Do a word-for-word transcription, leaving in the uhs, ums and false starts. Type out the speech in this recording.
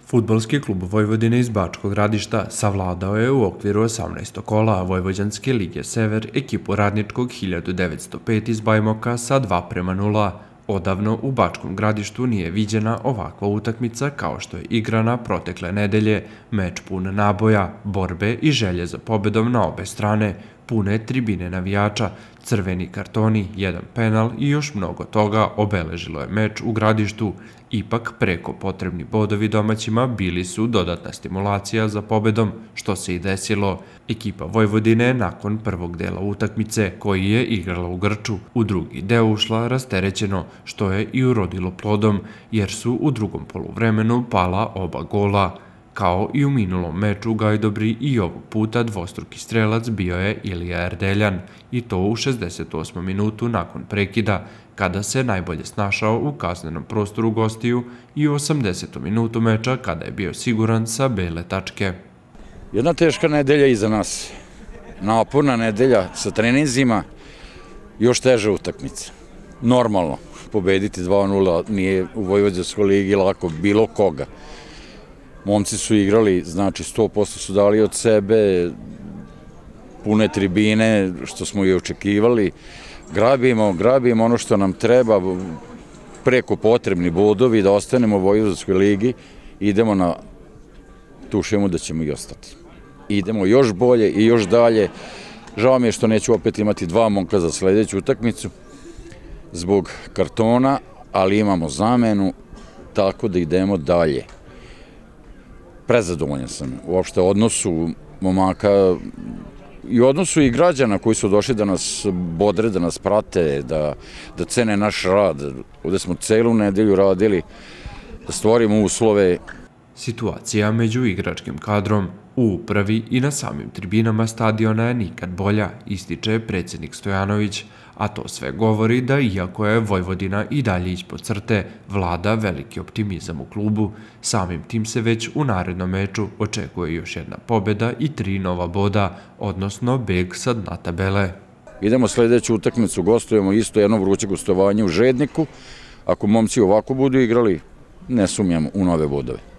Fudbalski klub Vojvodine iz Bačkog Gradišta savladao je u okviru osamnaestog kola Vojvođanske lige Sever ekipu Radničkog hiljadu devetsto pet iz Bajmoka sa dva prema nula. Odavno u Bačkom Gradištu nije viđena ovakva utakmica kao što je igrana protekle nedelje, meč pun naboja, borbe i želje za pobedom na obe strane, pune tribine navijača, crveni kartoni, jedan penal i još mnogo toga obeležilo je meč u Gradištu. Ipak preko potrebni bodovi domaćima bili su dodatna stimulacija za pobedom, što se i desilo. Ekipa Vojvodine nakon prvog dela utakmice, koji je igrala u Grču, u drugi deo ušla rasterećeno, što je i urodilo plodom, jer su u drugom poluvremenu pala oba gola. Kao i u minulom meču u Gajdobri i ovog puta dvostruki strelac bio je Ilija Erdeljan, i to u šezdeset osmom minutu nakon prekida, kada se najbolje snašao u kaznenom prostoru gostiju, i u osamdesetom minutu meča kada je bio siguran sa bele tačke. Jedna teška nedelja iza nas, naporna nedelja sa treninzima, još teža utakmica. Normalno, pobediti dva nula nije u Vojvođanskoj ligi lako bilo koga. Momci su igrali, znači sto posto su dali od sebe, pune tribine, što smo i očekivali. Grabimo, grabimo ono što nam treba, preko potrebni bodovi da ostanemo u Vojvođanskoj ligi, idemo na tu šemu da ćemo i ostati. Idemo još bolje i još dalje. Žao mi je što neću opet imati dva momka za sledeću utakmicu zbog kartona, ali imamo zamenu, tako da idemo dalje. Prezadovoljan sam uopšte odnosu momaka i odnosu i građana koji su došli da nas bodre, da nas prate, da, da cene naš rad. Ovde smo celu nedelju radili da stvorimo uslove. Situacija među igračkim kadrom u upravi i na samim tribinama stadiona je nikad bolja, ističe predsjednik Stojanović, a to sve govori da iako je Vojvodina i dalje ispod crte, vlada veliki optimizam u klubu. Samim tim se već u narednom meču očekuje još jedna pobjeda i tri nova boda, odnosno beg sa dna tabele. Idemo sledeću utakmicu, gostujemo isto jedno vruće gostovanje u Žedniku. Ako momci ovako budu igrali, ne sumnjam u nove bodove.